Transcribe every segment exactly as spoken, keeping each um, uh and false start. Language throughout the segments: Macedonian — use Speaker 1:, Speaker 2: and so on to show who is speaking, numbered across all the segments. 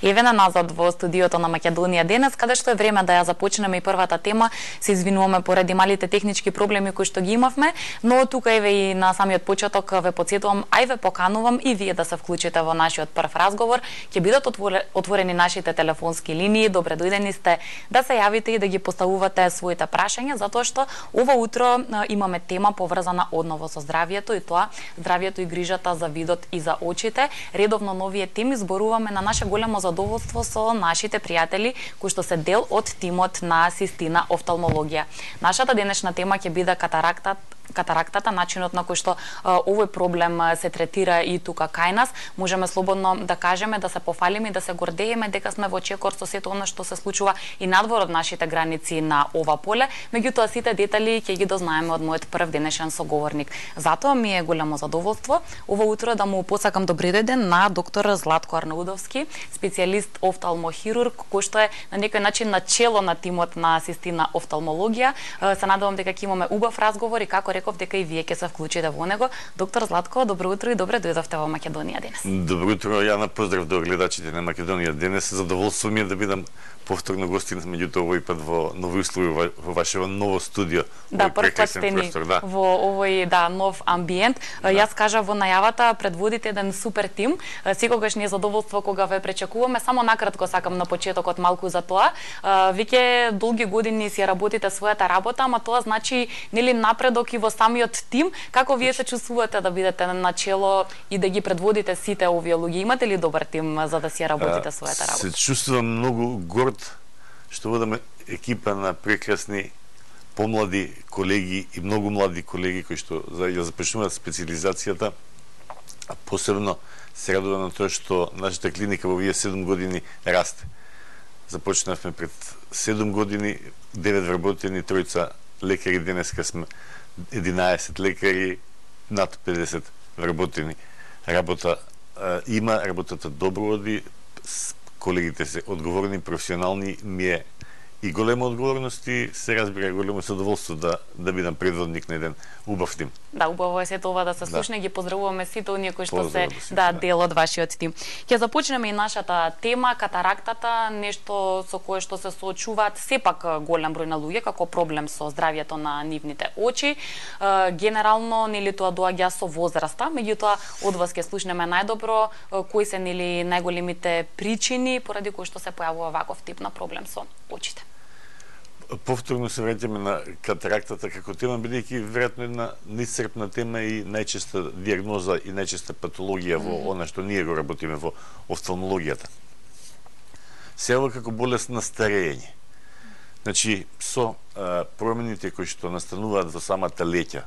Speaker 1: Еве на назад во студиото на Македонија денес, каде што е време да ја започнеме и првата тема. Се извинуваме поради малите технички проблеми кои што ги имавме, но тука еве и на самиот почеток ве потсетувам, ај ве поканувам и вие да се вклучите во нашиот прв разговор. Ќе бидат отворени нашите телефонски линии. Добре дојдени сте да се јавите и да ги поставувате своите прашања, затоа што ова утро имаме тема поврзана одново со здравјето, и тоа здравјето и грижата за видот и за очите. Редовно новие теми зборуваме на наше големо задоволство со нашите пријатели кои што се дел од тимот на Систина офталмологија. Нашата денешна тема ќе биде катарактата, катарактата, начинот на кој што а, овој проблем а, се третира и тука кај нас. Можеме слободно да кажеме, да се пофалиме и да се гордееме дека сме во чекор со сето она што се случува и надвор од нашите граници на ова поле. Меѓутоа сите детали ќе ги дознаеме од мојот прв денешен соговорник. Затоа ми е големо задоволство ова утро да му посакам добри ден на доктор Златко Арнаудовски, специјалист офталмохирург, кој што е на некој начин на чело на тимот на Систина офталмологија. Се надевам дека ќе имаме убав разговор и како реков дека и вие ќе се вклучите во него. Доктор Златко, добро утро и добре дојдовте во Македонија денес.
Speaker 2: Добро утро, Јана, поздрав до гледачите на Македонија денес. Задоволство ми е да бидам повторно гостин, меѓутоа овој пат во нови услови во вашето ново студио.
Speaker 1: Да, прв пат сте ни да. во овој да нов амбиент. Да. Јас кажа во најавата предводите еден супер тим. Секогаш ни е задоволство кога ве пречекуваме. Само накратко сакам на почетокот малку за тоа. Веќе долги години си работите својата работа, ама тоа значи нели напредок и во самиот тим. Како вие се чувствувате да бидете на чело и да ги предводите сите овие луѓе? Имате ли добар тим за да си работите својата работа?
Speaker 2: Се чувствувам многу горд што водаме екипа на прекрасни помлади колеги и многу млади колеги кои што ја започнуваат специализацијата, а посебно се радувам на тоа што нашата клиника во овие седум години расте. Започнавме пред седум години, девет вработени, тројца лекари, денеска сме единаесет лекари, над педесет вработени. Работа а, има, работата добро оди, колегите се одговорни, професионални, ми е и голема одговорност и се разбира големо задоволство да да бидам предводник на еден убав тим.
Speaker 1: Да, убаво е сето ова да се слушне, да. Ги поздравуваме сите оние кои што се
Speaker 2: да,
Speaker 1: да дел од вашиот тим. Ќе започнеме и нашата тема катарактата, нешто со кое што се соочуваат сепак голем број на луѓе како проблем со здравјето на нивните очи. Генерално нели тоа доаѓа со возраста, меѓутоа од вас ќе слушнеме најдобро кои се нели најголемите причини поради кои што се појавува ваков тип на проблем со очите.
Speaker 2: Повторно се враќаме на катарактата како тема, бидејќи веројатно една неисцрпна тема и најчеста диагноза и најчеста патологија во mm -hmm. она што ние го работиме во офталмологијата. Се ова како болест на старење. Значи, со а, промените кои што настануваат во самата леќа,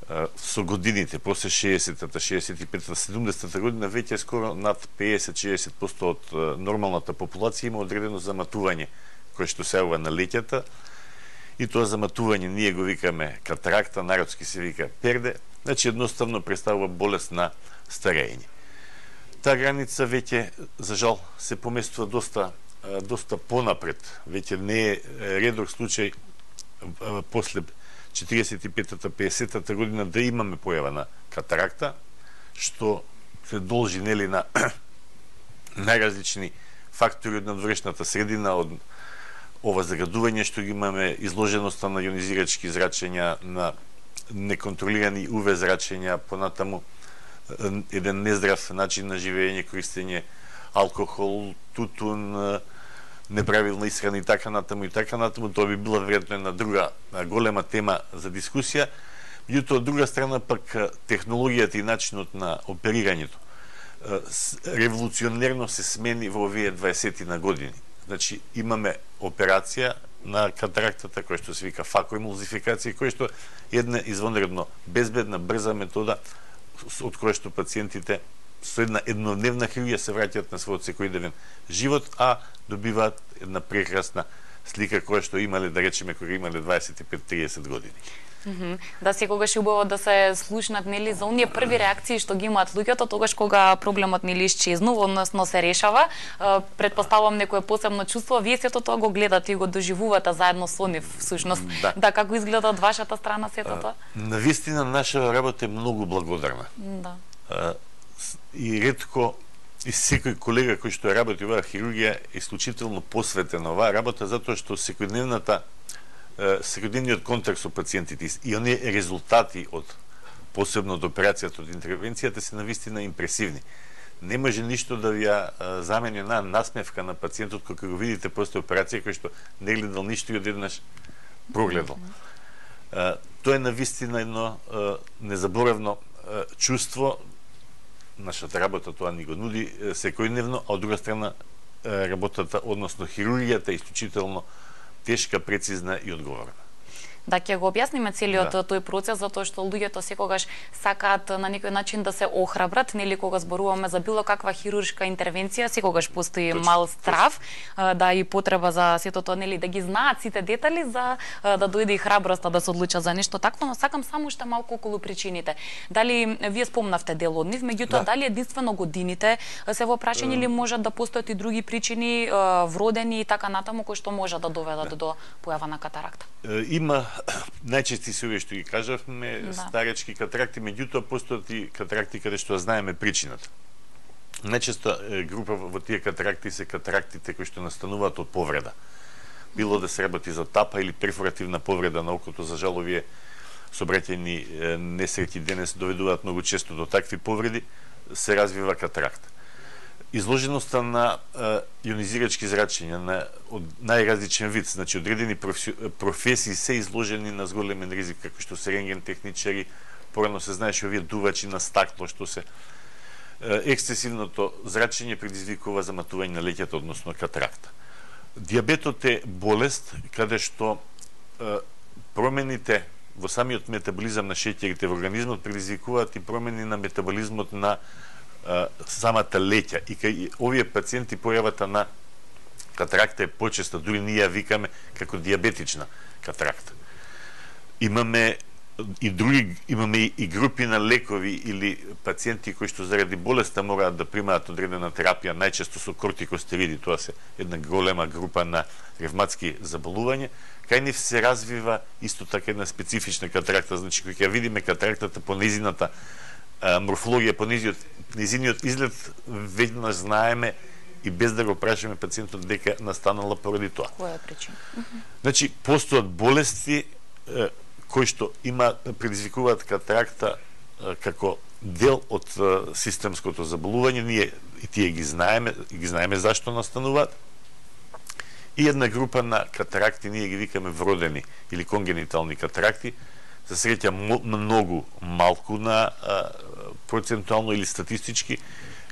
Speaker 2: а, со годините, после шеесеттата, шеесет и петата, седумдесетата година, веќе скоро над пеесет до шеесет проценти од а, нормалната популација има одредено заматување кој што се јавува на леќата, и тоа заматување ние го викаме катаракта, народски се вика перде, значи едноставно представува болест на старење. Таа граница веќе, за жал, се поместува доста, доста понапред. Веќе не е редок случај после четиридесет и петата, пеесеттата година да имаме појава на катаракта, што се должи нели на најразлични фактори од надворешната средина, од ова загадување што ги имаме, изложеноста на јонизирачки зрачења, на неконтролирани УВ зрачења, понатаму еден нездрав начин на живење, користење алкохол, тутун, неправилна исхрана и така натаму и така натаму. Тоа би била веројатно една друга голема тема за дискусија. Меѓутоа, од друга страна пак технологијата и начинот на оперирањето револуционерно се смени во овие дваесет на години. Значи, имаме операција на катарактата, која што се вика факоемулзификација, која што е една извонредно безбедна, брза метода од која што пациентите со една еднодневна хирургија се враќаат на својот секојдневен живот, а добиваат една прекрасна слика која што имале, да речеме, кога имале дваесет и пет до триесет години.
Speaker 1: Mm -hmm. Да, секогаш е убаво да се слушнат нели за оние први реакции што ги имаат луѓето тогаш кога проблемот нели исчезнува, односно се решава. Предпоставувам некое посебно чувство, вие сето тоа го гледате и го доживувате заедно со нив всушност. Да, да, како изгледа од вашата страна сето тоа?
Speaker 2: Навистина наша работа е многу благодарна.
Speaker 1: Да.
Speaker 2: И ретко и секој колега кој што работи оваа хирургија е исклучително посветен на оваа работа, затоа што секојдневната секојдневниот контакт со пациентите и оние резултати од посебно од операцијата, од интервенцијата се навистина импресивни. Не може ништо да ви ја замени една насмевка на пациентот кога го видите после операција кој што не гледал ништо и одеднаш прогледал. Тоа е навистина едно незаборавно чувство. Нашата работа тоа ни го нуди секојдневно, а од друга страна работата, односно хирургијата е исклучително тешка, прецизна и одговорна.
Speaker 1: Да, ќе го објасниме целиот
Speaker 2: да.
Speaker 1: тој процес, затоа што луѓето секогаш сакаат на некој начин да се охрабрат, нели кога зборуваме за било каква хируршка интервенција, секогаш постои Точно. мал страв, да и потреба за сето тоа, нели да ги знаат сите детали за да дојде и храброста да се одлучат за нешто такво, но сакам само уште малку околу причините. Дали вие спомнавте дел од нив, меѓутоа да. дали единствено годините се во прашање или можат да постојат и други причини, вродени и така натаму, кои што можат да доведат да. до појава на катаракта?
Speaker 2: Има најчести се овие што ги кажавме, да. старечки катаракти, меѓутоа постојат и катаракти каде што знаеме причината. Најчесто група во тие катаракти се катарактите кои што настануваат од повреда. Било да се работи за тапа или перфоративна повреда на окото, за жал овие сообраќајни несреќи денес доведуваат многу често до такви повреди, се развива катаракта. Изложеноста на ионизирачки зрачења на од најразличен вид, значи одредени професии се изложени на зголемен ризик, како што се рентген техничари, порано се знаеше овие дувачи на стакло, што се ексцесивното зрачење предизвикува заматување на леќето, односно катаракта. Диабетот е болест каде што промените во самиот метаболизам на шеќерите во организмот предизвикуваат и промени на метаболизмот на самата леќа, и кај овие пациенти појавата на катаракта е почеста, дури ние ја викаме како диабетична катаракта. Имаме и други, имаме и групи на лекови или пациенти кои што заради болеста мораат да примаат одредена терапија, најчесто со кортикостериди, тоа се една голема група на ревматски заболувања. Кај нив се развива исто така една специфична катаракта, значи кога ќе видиме катарактата по незината морфологија, по незиниот изглед, веднаш знаеме и без да го прашаме пациентот дека настанала поради тоа.
Speaker 1: Која е причина?
Speaker 2: Значи, постојат болести е, кои што има предизвикуваат катаракта е, како дел од е, системското заболување, ние и тие ги знаеме, ги знаеме зашто настануваат. И една група на катаракти, ние ги викаме вродени или конгенитални катаракти, за среќа многу малку на а, процентуално или статистички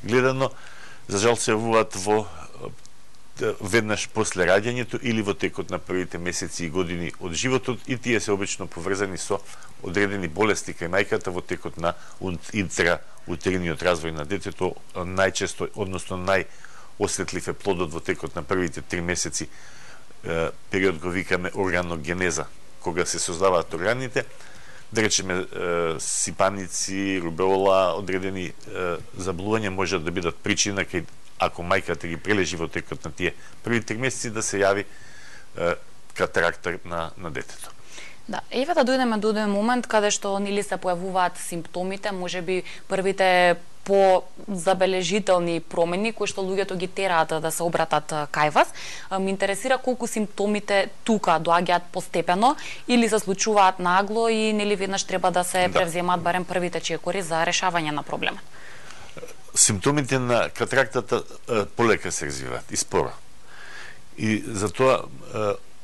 Speaker 2: гледано, за жал се јавуваат во веднаш после раѓањето или во текот на првите месеци и години од животот, и тие се обично поврзани со одредени болести кај мајката во текот на интраутериниот развој на детето, најчесто, односно најосветлив е плодот во текот на првите три месеци, период го викаме органогенеза, кога се создаваат органите, да речеме сипаници, рубеола, одредени заболувања можат да бидат причина кај, ако мајката ги прележи во текот на тие први три месеци, да се јави катаракта на, на детето.
Speaker 1: Да, еве да дојдеме до еден момент каде што нели се појавуваат симптомите, можеби првите по забележителни промени кои што луѓето ги тераат да се обратат кај вас. Ме интересира колку симптомите тука доаѓаат постепено или се случуваат нагло и нели веднаш треба да се да. превземаат барем првите чекори за решавање на проблемот.
Speaker 2: Симптомите на катарактата полека се развиваат и споро. И затоа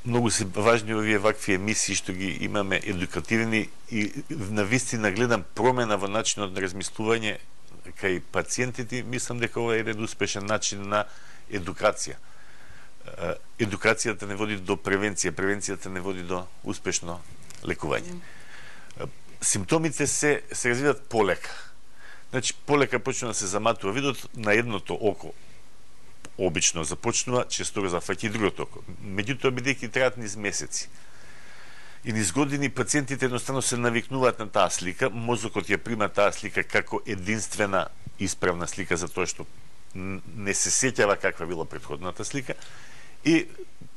Speaker 2: многу се важни овие вакви емисии што ги имаме едукативни и навистина гледам промена во начинот на размислување кај пациентите. Мислам дека ова е еден успешен начин на едукација. Едукацијата не води до превенција, превенцијата не води до успешно лекување. Симптомите се се развиваат полека. Значи полека почнува да се заматува видот на едното око. Обично започнува, често го зафаќа и другото око. Меѓутоа, бидејќи траат низ месеци и низ години, пациентите едноставно се навикнуваат на таа слика, мозокот ја прима таа слика како единствена исправна слика, затоа што не се сеќава каква била претходната слика, и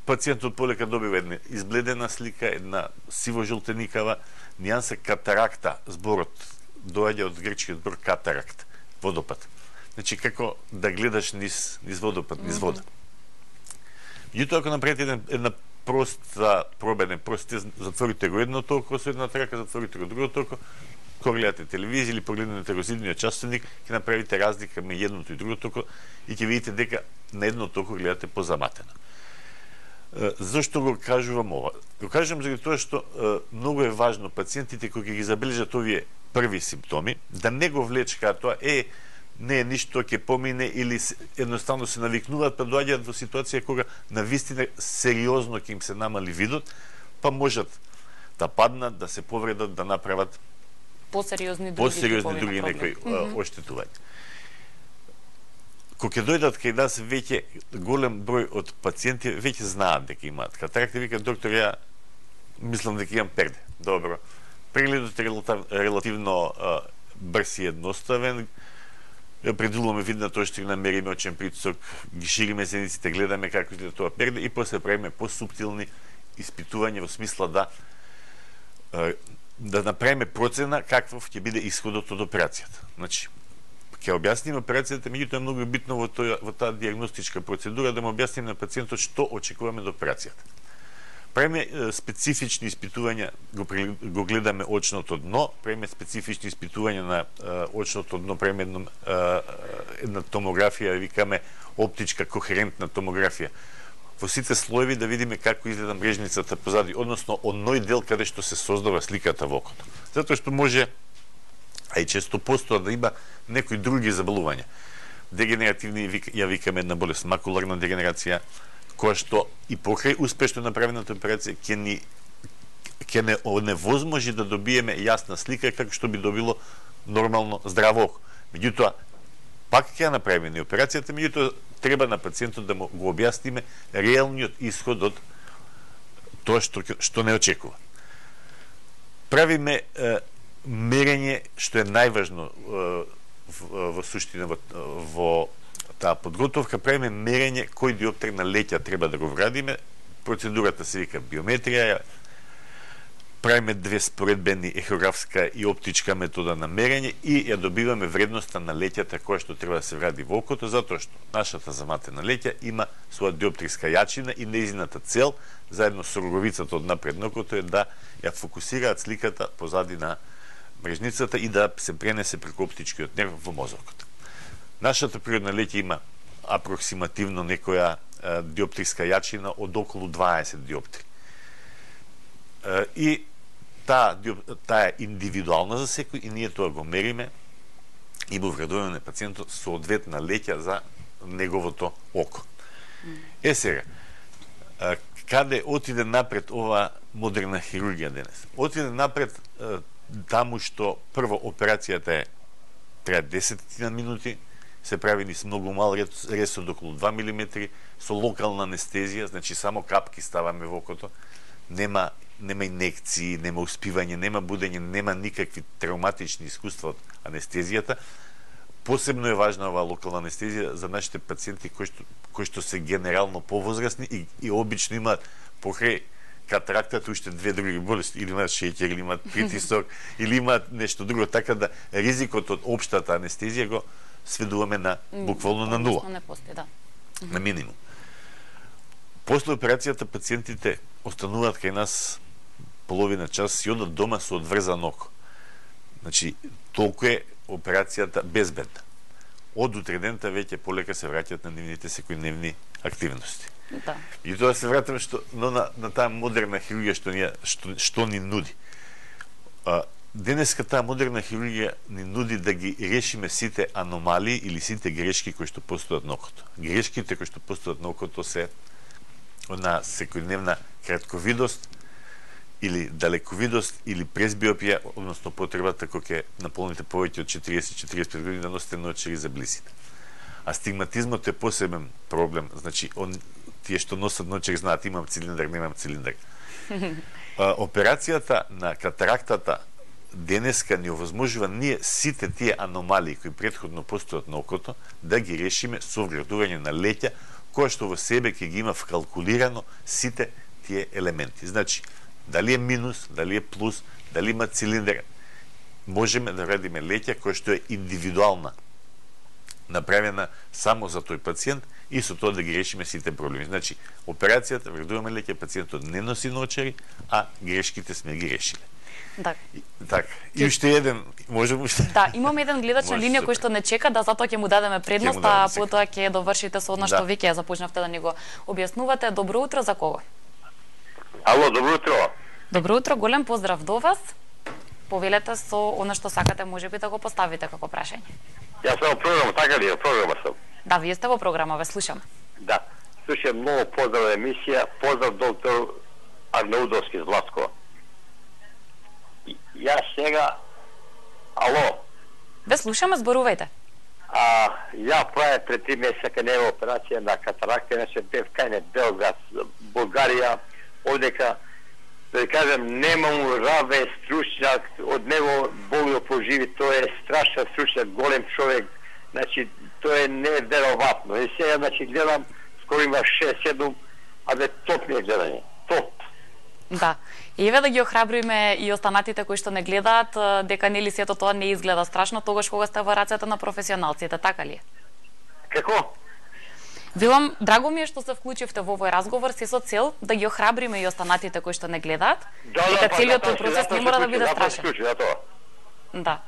Speaker 2: пациентот полека добива една избледена слика, една сиво-жолтеникава нијанса катаракта. Зборот доаѓа од грчкиот збор катаракт, водопад. Значи, како да гледаш низ, низ водопад, низ вода. Меѓутоа, ако направите една, една проста проба, еден прост тест, затворите го едното око со едната рака, затворите го другото око, кога гледате телевизија или погледнете го зидниот часовник, ќе направите разлика меѓу едното и другото око и ќе видите дека на едното око гледате позаматено. Зошто го кажувам ова? Го кажувам заради тоа што многу е важно пациентите кои ги забележат овие први симптоми да не го влечкаат тоа е не е ништо, ќе помине или едноставно се навикнуваат, па доаѓаат во ситуација кога навистина сериозно ќе им се намали видот, па можат да паднат, да се повредат, да направат
Speaker 1: посериозни други,
Speaker 2: посериозни други некои оштетувања. Кога ќе дојдат кај нас веќе голем број од пациенти веќе знаат дека имаат катаракта, викаат доктор, ја мислам дека имам перде. Добро. Прегледот е релативно брз и едноставен. Предвидуваме видната оштина, мериме очен притисок, ги шириме зениците, гледаме како изгледа тоа перде и после правиме посуптилни испитувања во смисла да да направиме процена каков ќе биде исходот од операцијата. Значи, ќе објасниме операцијата, меѓутоа е многу битно во тоја во таа дијагностичка процедура да му објасниме на пациентот што очекуваме од операцијата. Правиме специфични испитувања, го, го гледаме очното дно, правиме специфични испитувања на а, очното дно, правиме една, а, една томографија, викаме оптичка кохерентна томографија. Во сите слоеви да видиме како изгледа мрежницата позади, односно оној дел каде што се создава сликата во окото. Затоа што може, а и често постоа да има некои други заболувања. Дегенеративни, ја викаме една болест, макуларна дегенерација, која што и покрај успешно направената операција ќе ни ќе не оневозможи да добиеме јасна слика како што би добило нормално здраво око. Меѓутоа, пак ќе ја направиме ни операцијата, меѓутоа треба на пациентот да му го објасниме реалниот исход од тоа што што не очекува. Правиме е, мерење што е најважно е, во, во суштина во, во таа подготовка, правиме мерење кој диоптер на леќа треба да го вградиме. Процедурата се вика биометрија. Правиме две споредбени ехографска и оптичка метода на мерење и ја добиваме вредноста на леќата која што треба да се вгради во окото, затоа што нашата заматена леќа има своја диоптрска јачина и нејзината цел, заедно со роговицата од напред на окото, е да ја фокусираат сликата позади на мрежницата и да се пренесе преку оптичкиот нерв во мозокот. Нашата природна леќа има апроксимативно некоја е, диоптрска јачина од околу дваесет диоптри. Е, и таа, таа е индивидуална за секој и ние тоа го мериме и му вградуваме на пациентот соодветна леќа за неговото око. Е сега, е, каде отиде напред ова модерна хирургија денес? Отиде напред е, таму што прво операцијата е трае десет минути, се прави низ многу мал рез од околу два милиметри, со локална анестезија, значи само капки ставаме во окото, нема, нема инекции, нема успивање, нема будење, нема никакви травматични искуства од анестезијата. Посебно е важна оваа локална анестезија за нашите пациенти кои што, кои што се генерално повозрасни и, и обично имаат покрај катарактата уште две други болести, или имаат шеќер, или имаат притисок, или имаат нешто друго, така да ризикот од општата анестезија го сведуваме на буквално на нула.
Speaker 1: Не постои, да.
Speaker 2: На минимум. После операцијата пациентите остануваат кај нас половина час и одат дома со одврзан око. Значи, толку е операцијата безбедна. Од утредента веќе полека се враќаат на нивните секојдневни активности.
Speaker 1: Да.
Speaker 2: И тоа се вратиме што но на, на таа модерна хирургија што ни што, што ни нуди. А, денеска таа модерна хирургија ни нуди да ги решиме сите аномалии или сите грешки кои што постојат на окото. Грешките кои што постојат на окото се на секојдневна кратковидост или далековидост или презбиопија, односно потребата кога ќе наполните повеќе од четириесет до четириесет и пет години да носите наочари за блисите. Астигматизмот е посебен проблем, значи он тие што носат наочари знаат имам цилиндар, немам цилиндар. А, операцијата на катарактата денеска ни овозможува ние сите тие аномалии кои претходно постојат на окото да ги решиме со вградување на леќа која што во себе ќе ги има вкалкулирано сите тие елементи. Значи, дали е минус, дали е плюс, дали има цилиндар, можеме да вредиме леќа која што е индивидуална направена само за тој пациент и со тоа да ги решиме сите проблеми. Значи, операцијата, вредуваме леќе, пациентот не носи наочари, а грешките сме ги решиле.
Speaker 1: Да.
Speaker 2: И, така. И уште еден, можеме уште?
Speaker 1: Да, имаме еден гледач на линија кој што не чека, да затоа ќе му дадеме предност, а потоа ќе довршите со она што веќе ја започнавте да ни го објаснувате. Добро утро, за кого?
Speaker 3: Ало, добро утро.
Speaker 1: Добро утро, голем поздрав до вас. Повелете со она што сакате, можеби да го поставите како прашање.
Speaker 3: Јас сум во програма, така ли, во програма сум.
Speaker 1: Да, вие сте во програма, ве слушам.
Speaker 3: Да, слушам многу поздрав емисија, поздрав доктор Арнаудовски Златко. Јас сега, ало.
Speaker 1: Ве слушаме, зборувајте.
Speaker 3: А, ја правя пред три месеца кај него операција на катаракта, иначе бев кај Белград, Булгарија, одека, да кажем, немам раве стручњак, од него Бог го поживи, тој е страшен стручњак, голем човек, значи, тоа е неверојатно. И сега, значи, гледам, скоро има шест-седум, а бе топ ми е гледање, топ.
Speaker 1: Да. Еве да ги охрабриме и останатите кои што не гледаат, дека нели сето тоа не изгледа страшно тогаш кога сте во рацете на професионалците, така ли е?
Speaker 3: Како?
Speaker 1: Велам, драго ми е што се вклучивте во овој разговор се со цел да ги охрабриме и останатите кои што не гледаат,
Speaker 3: да,
Speaker 1: дека
Speaker 3: да,
Speaker 1: целиот
Speaker 3: да,
Speaker 1: тој процес
Speaker 3: да,
Speaker 1: не мора да биде
Speaker 3: да,
Speaker 1: страшен.
Speaker 3: Да, тоа.
Speaker 1: Да.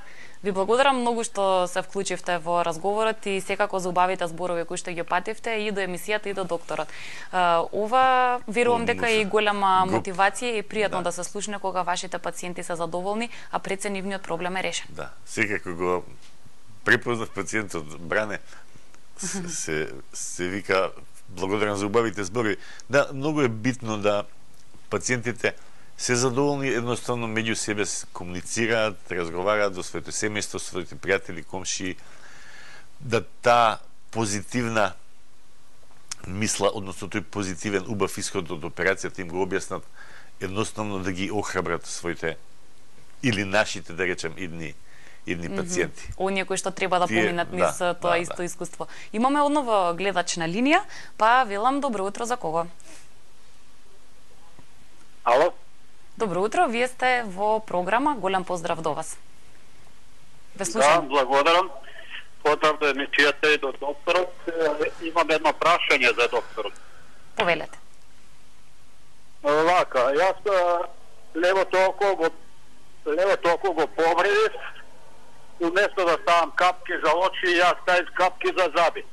Speaker 1: Ви благодарам многу што се вклучивте во разговорот и секако за убавите зборови кои што ги пативте и до емисијата и до докторот. Ова верувам дека е и голема мотивација и пријатно да. да се слушне кога вашите пациенти се задоволни, а пред се нивниот проблем е решен.
Speaker 2: Да, секако го препознав пациентот Бране, се, се вика благодарам за убавите зборови. Да, многу е битно да пациентите се задоволни, едноставно меѓу себе комуницираат, разговараат до своето семејство, своите пријатели, комши, да таа позитивна мисла, односно тој позитивен убав исход од операцијата им го објаснат, едноставно да ги охрабрат своите или нашите, да речем, идни идни пациенти.
Speaker 1: Mm -hmm. Оние кои што треба да
Speaker 2: Тие,
Speaker 1: поминат низ
Speaker 2: да,
Speaker 1: тоа
Speaker 2: да,
Speaker 1: исто
Speaker 2: да.
Speaker 1: искуство. Имаме одново гледач на линија, па велам добро утро, за кого?
Speaker 3: Ало?
Speaker 1: Добро утро, вие сте во програма, голем поздрав до вас. Ве слушам.
Speaker 4: Да, благодарам. Поздрав до емисијата и до докторот. Имам едно прашање за докторот.
Speaker 1: Повелете.
Speaker 4: Вака, јас левото око го левото око го повредив, уместо да ставам капки за очи, јас ставив капки за заби.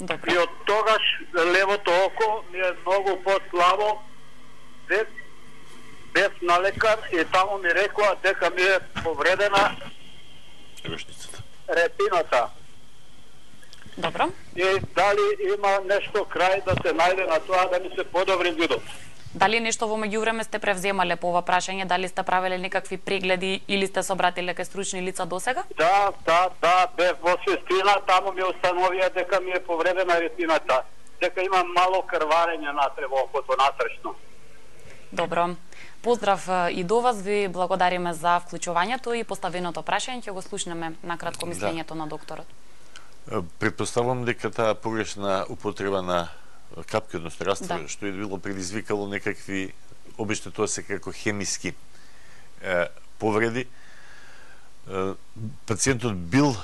Speaker 1: Добро.
Speaker 4: И од тогаш левото око ми е многу послабо, без, без на лекар, и таму ми рекоа дека ми е повредена
Speaker 2: Рошницата.
Speaker 4: ретината.
Speaker 1: Добро.
Speaker 4: И дали има нешто крај да се најде на тоа да ми се подобри видот?
Speaker 1: Дали нешто во меѓувреме сте превземале по ова прашање, дали сте правеле некакви прегледи или сте се обратиле кај стручни лица досега?
Speaker 4: Да, да, да, бев во Свистина, таму ми установија дека ми е повредена ретината, дека има мало крварење натре во окото натрешно.
Speaker 1: Добро. Поздрав и до вас, ви благодариме за вклучувањето и поставеното прашање, ќе го слушнеме на кратко мислењето да. на докторот.
Speaker 2: Предпоставувам дека таа погрешна употреба на капки, односно раствор, да. што е било предизвикало некакви, обично тоа се како хемиски е, повреди. Е, пациентот бил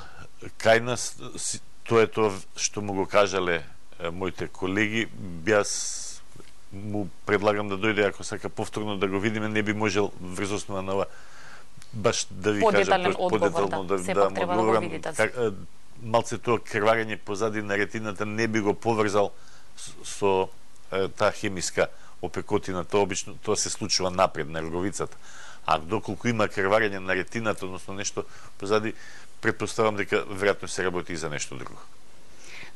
Speaker 2: кај нас, тоа е тоа што му го кажале е, моите колеги, јас му предлагам да дојде, ако сака повторно да го видиме, не би можел врз основа на ова баш да ви кажам
Speaker 1: подетално да, да, да му одговорам.
Speaker 2: Да малце тоа крварење позади на ретината не би го поврзал со е, таа хемиска опекотина, тоа обично тоа се случува напред на роговицата. А доколку има крварење на ретината, односно нешто позади, претпоставам дека веројатно се работи и за нешто друго.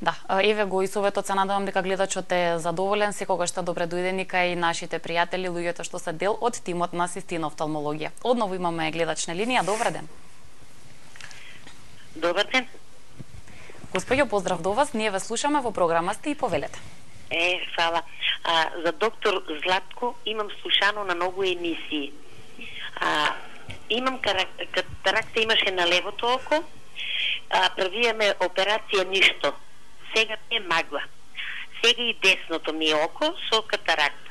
Speaker 1: Да, еве го и советот, се надевам дека гледачот е задоволен, секогаш сте добре дојдени кај нашите пријатели, луѓето што се дел од тимот на Систина офталмологија. Одново имаме гледач на линија, добар ден.
Speaker 5: Добар ден.
Speaker 1: Господјо, поздрав до вас, ние ве слушаме, во програма сте и повелете.
Speaker 5: Е, фала. А, за доктор Златко имам слушано на многу емисии. А, имам катаракта, имаше на левото око, а, правиме операција ништо. Сега ми е магла. Сега и десното ми е око со катаракта.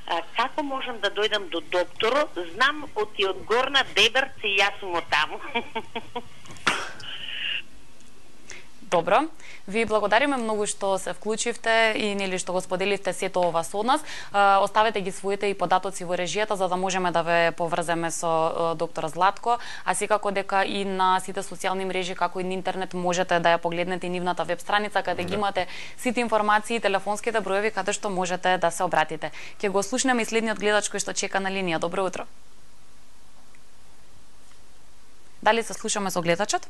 Speaker 5: А, како можам да дојдам до докторот? Знам од и од Горна Дебърце и јас сум од таму.
Speaker 1: Добро. Ви благодариме многу што се вклучивте и нели што го споделивте сето ова со нас. Оставете ги своите и податоци во режијата за да можеме да ве поврземе со доктор Златко, а секако дека и на сите социјални мрежи како и на интернет можете да ја погледнете нивната веб страница каде ги имате сите информации и телефонските броеви каде што можете да се обратите. Ќе го слушнеме и следниот гледач кој што чека на линија. Добро утро. Дали се слушаме со гледачот?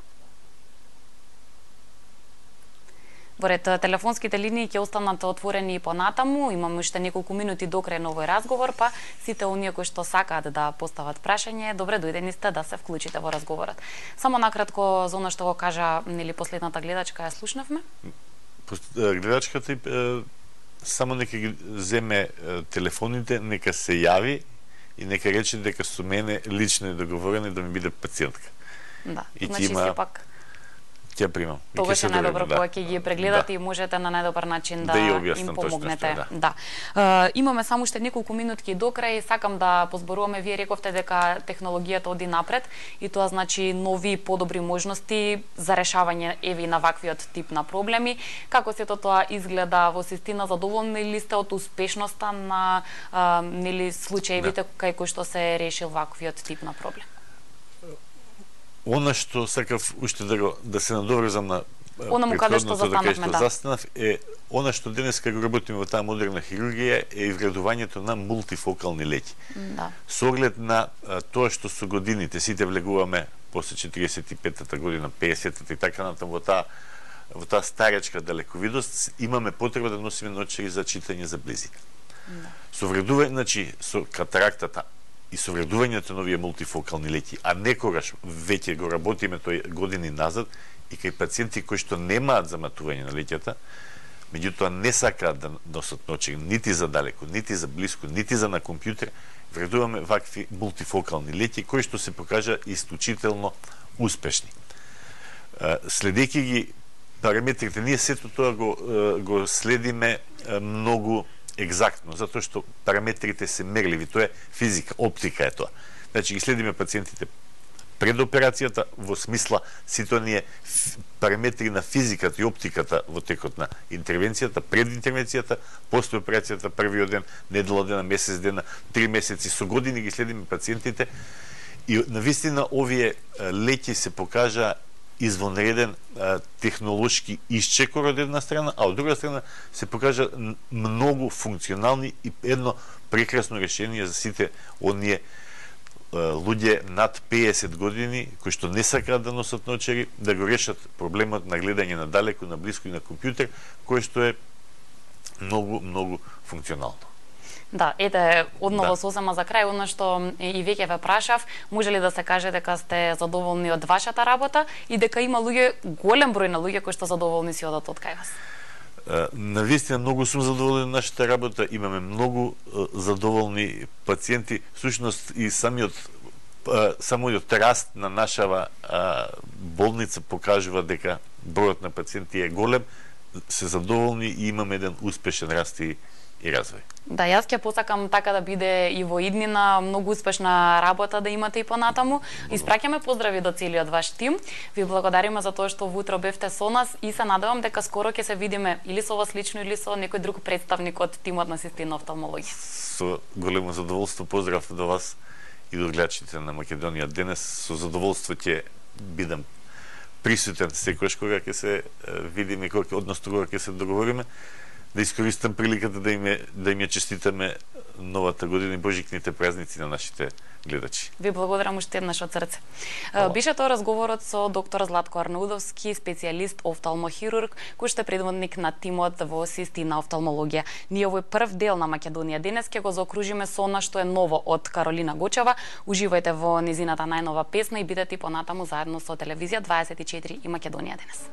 Speaker 1: Во ред, телефонските линии ќе останат отворени и понатаму. Имаме уште неколку минути до крај на овој разговор, па сите оние кои што сакаат да постават прашање, добре дојдени сте да се вклучите во разговорот. Само накратко за она што го кажа нели последната гледачка, ја слушнавме.
Speaker 2: Гледачката е, само нека ги земе телефоните, нека се јави и нека рече дека со мене лично е договорено да ми биде пациентка.
Speaker 1: Да,
Speaker 2: и
Speaker 1: значи
Speaker 2: има...
Speaker 1: сепак
Speaker 2: ќе примам.
Speaker 1: Тогаш е најдобро
Speaker 2: да.
Speaker 1: кога ќе ги прегледате
Speaker 2: да.
Speaker 1: и можете на најдобар начин да,
Speaker 2: да
Speaker 1: им помогнете.
Speaker 2: Точно,
Speaker 1: да. да. Uh, имаме само уште неколку минутки до крај, сакам да позборуваме, вие рековте дека технологијата оди напред и тоа значи нови подобри можности за решавање еви на ваквиот тип на проблеми. Како сето тоа изгледа во систина, задоволни ли сте од успешноста на uh, нели случаевите да. кај кои што се решил ваквиот тип на проблем?
Speaker 2: Она што сакав уште да го да се надоврзам на
Speaker 1: онаму каде што застанавме, да.
Speaker 2: Застанав е она што денеска го работиме во таа модерна хирургија е вградувањето на мултифокални леќи.
Speaker 1: Да.
Speaker 2: Со оглед на а, тоа што со годините сите влегуваме после четиридесет и петата година, педесетата и така натаму во таа во таа старечка далековидост, имаме потреба да носиме наочари за читање за близина. Да. Со вградување, значи со катарактата и со вредувањето на овие мултифокални леќи, а некогаш веќе го работиме тој години назад и кај пациенти кои што немаат заматување на леќата, меѓутоа не сакаат да носат наочари нити за далеко, нити за блиско, нити за на компјутер, вредуваме вакви мултифокални леќи кои што се покажа исклучително успешни. Следејќи ги параметрите, ние сето тоа го, го следиме многу екзактно, затоа што параметрите се мерливи, тоа е физика, оптика е тоа. Значи ги следиме пациентите пред операцијата во смисла сите оние параметри на физиката и оптиката во текот на интервенцијата, пред интервенцијата, после операцијата, првиот ден, недела дена, месец дена, три месеци, со години ги следиме пациентите и навистина овие леќи се покажа извонреден а, технолошки исчекор од една страна, а од друга страна се покажа многу функционални и едно прекрасно решение за сите оние а, луѓе над педесет години кои што не сакаат да носат наочари, да го решат проблемот на гледање на далеко, на блиско и на компјутер, кој што е многу, многу функционално.
Speaker 1: Да, ете, одново
Speaker 2: да.
Speaker 1: сосема за крај, она што и веќе ве прашав, може ли да се каже дека сте задоволни од вашата работа и дека има луѓе, голем број на луѓе кои што задоволни си одат од кај вас?
Speaker 2: Навистина многу сум задоволен од нашата работа, имаме многу задоволни пациенти, всушност и самиот самиот раст на нашава болница покажува дека бројот на пациенти е голем, се задоволни и имаме еден успешен раст и и развој.
Speaker 1: Да, јас ќе посакам така да биде и во иднина, многу успешна работа да имате и понатаму. Испраќаме поздрави до целиот ваш тим. Ви благодариме за тоа што вутро бевте со нас и се надевам дека скоро ќе се видиме или со вас лично или со некој друг представник од тимот на Систина офталмологија.
Speaker 2: Со големо задоволство поздрав до вас и до гледачите на Македонија денес. Со задоволство ќе бидам присутен секогаш кога ќе се видиме, кога односно кога ќе се договориме. Да искористам приликата да им, да им ја честитаме новата година и божикните празници на нашите гледачи.
Speaker 1: Ви благодарам уште еднаш од срце. Hvala. Беше тоа разговорот со доктор Златко Арнаудовски, специјалист офталмохирург, кој што е предводник на тимот во Систина офталмологија. Ние овој прв дел на Македонија денес ќе го заокружиме со она што е ново од Каролина Гочева. Уживајте во незината најнова песна и бидете понатаму заедно со телевизија дваесет и четири и Македонија денес.